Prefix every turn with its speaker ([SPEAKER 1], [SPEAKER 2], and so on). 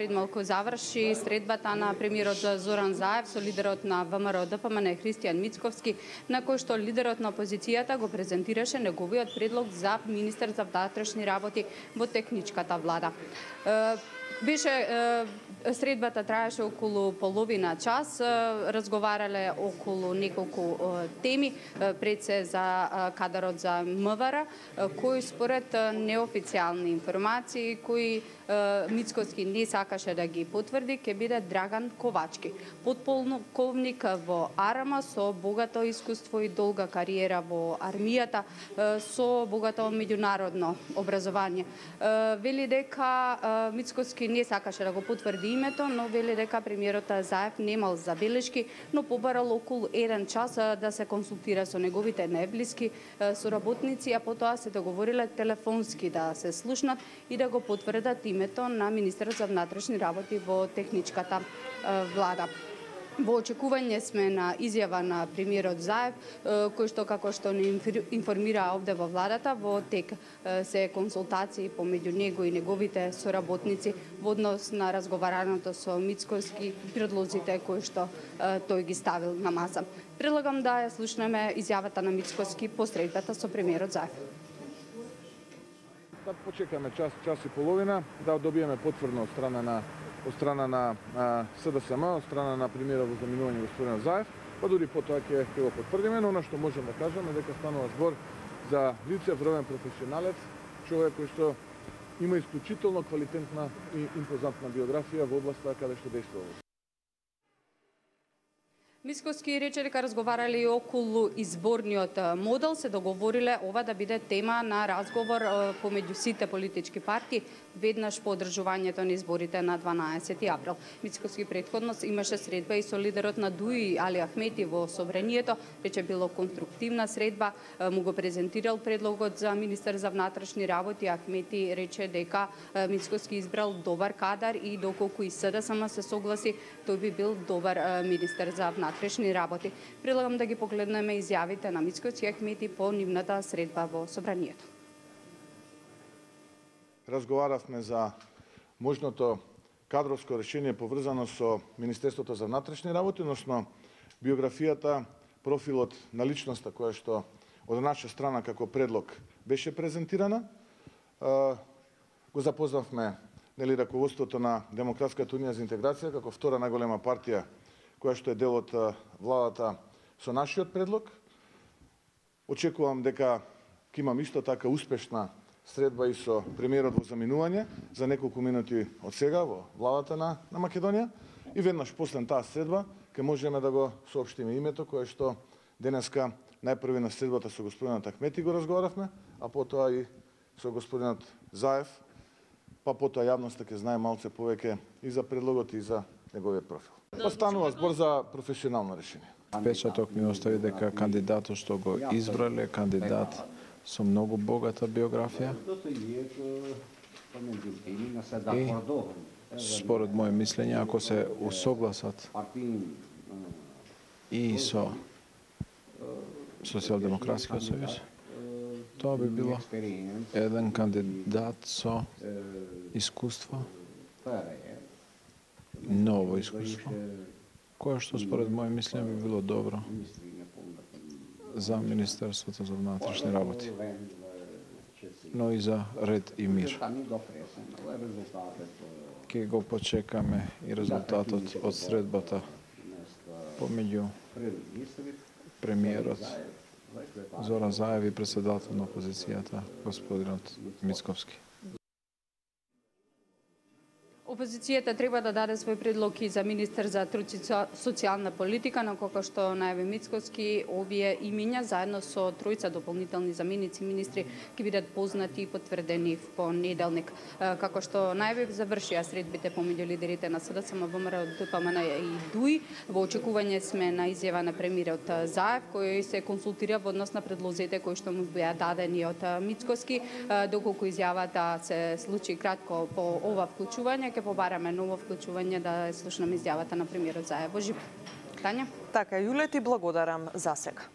[SPEAKER 1] пред малку заврши средбата на премиерот Зоран Заев со лидерот на ВМРО ДПМН Христијан Мицковски, на кој што лидерот на опозицијата го презентираше неговиот предлог за министер за внатрешни работи во техничката влада. Средбата траеше околу половина час, разговарале околу неколку теми, пред се за кадарот за МВР, кој според неофицијални информации, кои Мицковски не сакаше да ги потврди, ќе биде Драган Ковачки, подполковник во АРМА со богато искуство и долга кариера во армијата, со богато меѓународно образование. Вели дека Мицковски не сакаше да го потврди името, но вели дека премиерот Заев немал забелешки, но побарал околу 1 час да се консултира со неговите најблиски соработници, а потоа се договориле телефонски да се слушнат и да го потврдат името на министерот за внатрешни работи во техничката влада. Во очекување сме на изјава на премиерот Заев, кој што, како што не информира овде во владата, во тек се консултации помеѓу него и неговите соработници во однос на разговараното со Мицковски, предлозите кои што тој ги ставил на маса. Предлагам да ја слушнеме изјавата на Мицковски по средбата со премиерот Заев.
[SPEAKER 2] Да почекаме час и половина, да добиеме потврдно од страна на СДСМ, од страна на премиерот во заминување господин Заев, па дури потоа ќе го потврдиме, но она што можеме да кажеме дека станува збор за лице, вровен професионалец, човек кој што има исклучително квалитетна и импозантна биографија во областа каде што действува.
[SPEAKER 1] Мицковски рече дека разговарали околу изборниот модел, се договориле ова да биде тема на разговор помеѓу сите политички партии веднаш по одржувањето на изборите на 12 април. Мицковски претходно имаше средба и со лидерот на ДУИ Али Ахмети во собранието, рече било конструктивна средба, му го презентирал предлогот за министер за внатрешни работи. Ахмети рече дека Мицковски избрал добар кадар и доколку и СДСМ се согласи, тој би бил добар министер за внатрешни работи. Предлагам да ги погледнеме изјавите на Мицковски и Ахмети по нивната средба во собранието.
[SPEAKER 2] Разговаравме за можното кадровско решение поврзано со Министерството за внатрешни работи, односно биографијата, профилот на личноста која што од наша страна како предлог беше презентирана. Го запознавме раководството на Демократската унија за интеграција како втора најголема партија која што е дел од владата со нашиот предлог. Очекувам дека ќе имам исто така успешна средба и со премиерот во заминување за неколку минути од сега во владата на Македонија и веднаш после таа средба ќе можеме да го соопштиме името кое што денеска најпрви на средбата со господинот Ахмети го разговаравме, а потоа и со господинот Заев, па потоа јавноста ќе знае малце повеќе и за предлогот и за неговиот профил. Станува збор за професионално решение.
[SPEAKER 3] Печаток ми остави дека кандидатот што го избрале кандидат со многу богата биографија и според моје мислење, ако се усогласат и со Социјалдемократскиот сојуз, тоа би било еден кандидат со искуство, ново искуство, кое што според моје мислење би било добро за Министерството за внатрешни работи, но и за ред и мир. Ке го почекаме и резултатот од средбата помеѓу премиерот Зоран Заев и председател на опозицијата господинот Мицковски.
[SPEAKER 1] Опозицијата треба да даде свој предлог и за министер за труд и социјална политика, но како што најави Мицковски, овие имиња заедно со тројца дополнителни заменици министри ќе бидат познати и потврдени в понеделник. Како што најави завршија средбите помеѓу лидерите на СДСМ, ВМРО, ДПМН и ДУИ. Во очекување сме на изјава на премиерот Заев, кој се консултира во однос на предлозите кои што му беа дадени од Мицковски. Доколку изјавата се случи кратко по ова вклучување, ќе побараме ново вклучување да слушнеме изјавата на премиерот Заев во живо. Тања?
[SPEAKER 4] Така, Јуле, ти благодарам за сега.